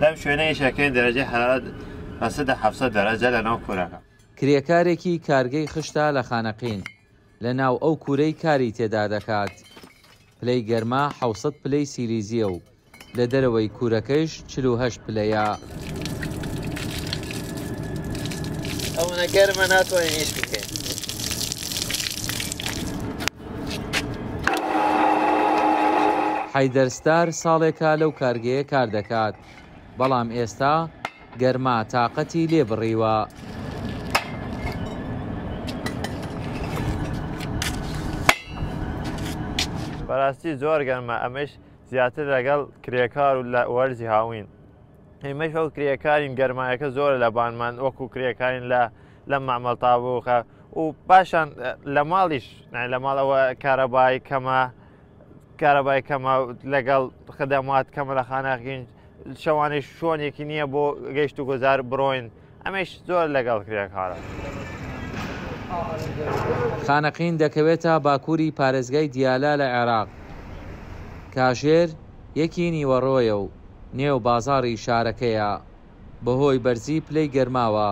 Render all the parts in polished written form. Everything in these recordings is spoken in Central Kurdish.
لەم شوێنە ئیشەکەین دەرەجەی حەرارەت رەسێتە 700 دەرەجە لەناو کورەکە. کرێکارێکی کارگەی خشتە لە خانەقین، لەناو ئەو کورەی کاری تێدا دەکات، پلەی گەرما 700 پلەی سیلیزییە و لە دەرەوەی کورەکەیش 48 پلەیە. ئەوەنە گەرمە ناتوانین ئیش بکەین. حەیدەر ستار ساڵێکە لەو کارگەیە کار دەکات، بەڵام ئێستا گەرما تاقەتی لێ بڕیوە. بەراستی زۆر گەرمە، ئەمەش زیاتر لەگەڵ کرێکار و لە وەرزی هاوین. ئێمەش وەکو کرێکارین، گەرمایەکە زۆرە لە بانمان، وەکو کرێکارین لە مەعمەڵ تابووخە و پاشان لە ماڵیش، لە ماڵەوە کارەبای کەمە، کارەبای کەمە لەگەڵ خدەمات کەمە لە خانەقین، شەوانەی شۆنێکی نییە بۆ گەشت و گوزار بڕۆین، ئەمەش زۆر لەگەڵ کرێکارە. خانەقین دەکەوێتە باکووری پارێزگای دیالە لە عێراق. کاژێر یەکی نیوەڕۆیە و نێو بازاڕی شارەکەیە. بەهۆی بەرزی پلەی گەرماوە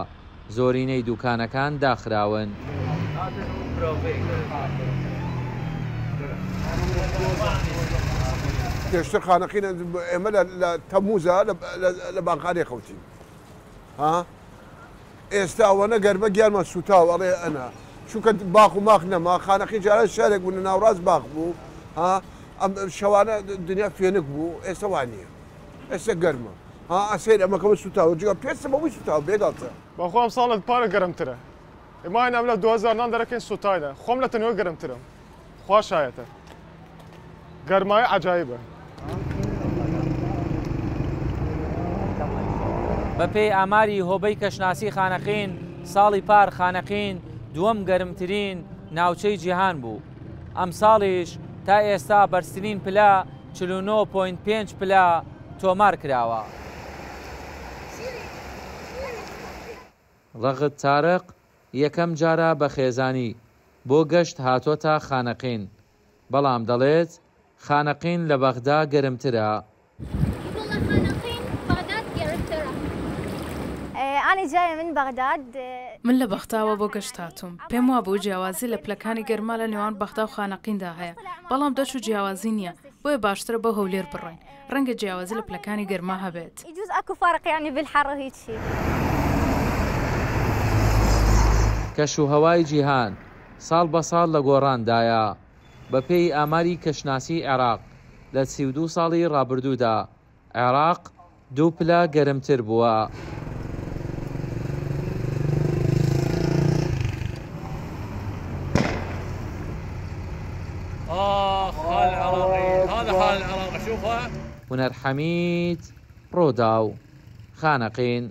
زۆرینەی دوکانەکان داخراون. پێشتر خانەقین ئێمە لە تەمووزا لە بانقانێ خەوتین. ها ئێستا ئەوەنە گەرمە گیانمان سووتاوە، ئەڵێ ئەنا چونکە باخ و ماخ نەما. خانەقین جاران شارێک بوو لە ناوڕاست باخ بوو، ها ئەم شەوانە دنیا فێنک بوو، ئێستا وا نییە، ئێستا گەرمە. ها ئەسەیر ئەمەکەمە سووتاوە، جگە پێستم بەمووی سووتاوە بێگاڵتە. بەخوا ئەم ساڵت پارە گەرمترە، ئێمە ئەم لە 2000 نان دەرەکەین سووتاینە، خۆم لە تەنوێ گەرمترم، خوا شایەتە گەرمایی عەجایبە. بەپێی ئاماری هۆبەی کەشناسی خانەقین، ساڵی پار خانەقین دووەم گەرمترین ناوچەی جیهان بوو. ئەمساڵیش تا ئێستا بەرزترین پلە 49.5 پلە تۆمار کراوە. ڕەغد تارق یەکەم جارە بە خێزانی بۆ گەشت هاتۆتە خانەقین، بەڵام دەڵێت خانەقین لە بەغدا گەرمترە. من لە بەغداوە بۆ گەشت هاتووم، پێم وابوو جیاوازی لە پلەکانی گەرما لە نێوان بەغدا و خانەقیندا هەیە، بەڵام دەرچوو جیاوازی نییە، بۆیە باشترە بۆ هەولێر بڕۆین، ڕەنگە جیاوازی لە پلەکانی گەرما هەبێت. کەشوهەوای جیهان ساڵ بە ساڵ لە گۆڕاندایە، بەپێی ئاماری کەشناسی عێراق لە 32 ساڵی ڕابردوودا عێراق 2 پلە گەرمتر بووە. هونەر حەمید، ڕووداو، خانەقین.